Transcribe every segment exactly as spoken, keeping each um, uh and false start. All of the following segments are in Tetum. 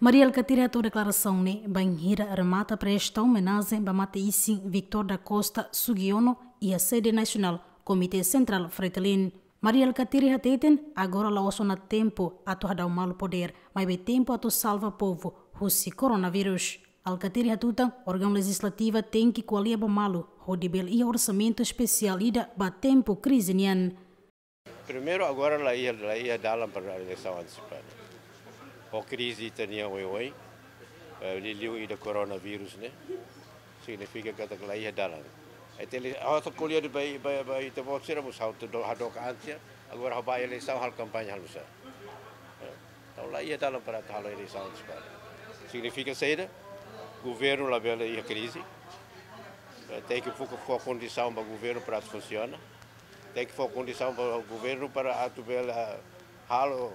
Mari Alkatiri hato'o deklarasaun ne'e bainhira remata prestasaun omenajen ba mate-isin Victor da Costa Sugiono iha sede nasionál Komité Sentrál Fretilin. Mari Alkatiri hateten, agora la'ós ona tempu atu hadau malu podér, maibé tempu atu salva povu husi koronavírus. Alkatiri hatutan, órgaun lejizlativa tenke ko'alia ba malu hodi bele iha orsamentu espesiál ida ba tempu krize nian. Primeiru, agora la iha, la iha dalan para eleisaun antesipada. Ho krize ita-nian oioin, eh, liuliu ida koronavírus ne'e, signifika katak la iha dalan. Ita li, ha'u atu ko'alia ba, ba, ba ita-boot sira mós ha'u atu do, hadook an tiha, agora ha'u bá eleisaun halo kampaña halo sá. Eh, entaun la iha dalan para atu halo eleisaun antesipada. Signifika saida? Governu labele iha krize. Eh, tenke fó, fó kondisaun ba governu para atu funsiona. Tenke fó kondisaun ba governu para atu bele, ah, halo,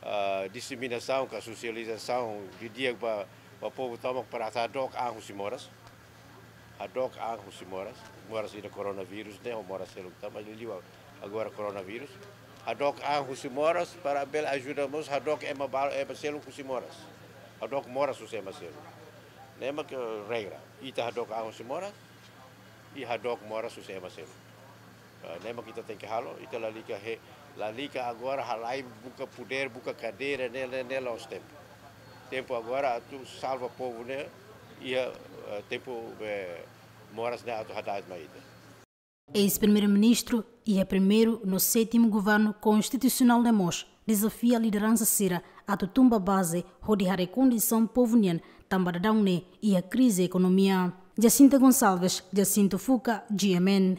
ah, diseminasaun ka sosializasaun didi'ak ba, ba povu tomak para atu hadook an husi moras. Hadook an husi moras. Moras ida koronavírus ne'e, ho moras seluk tan, maibé liuliu agora koronavírus. Hadook an husi moras para bele ajuda mós hadook ema ba, ema seluk husi moras. Hadook moras husi ema seluk. Ne'e mak regra. Ita hadook an husi moras, i hadook moras husi ema seluk. Ah, ne'e mak ita tenke halo, ita lalika he, lalika agora halai buka podér, buka kadeira, ne'e, ne'e, ne'e la'ós tempu. Tempu agora atu salva povu ne'e, iha, eh, tempu, eh, moras ne'e atu hada'et mai ita. Eis-Primeiru-Ministru iha primeiru no sétimu Governu Konstitusionál ne'e mós dezafia lideransa sira atu tun ba baze hodi haree kondisaun povu nian tanba daudaun ne'e iha krize ekonomia. Jacinta Gonçalves, Jacinto Fuca, G M N.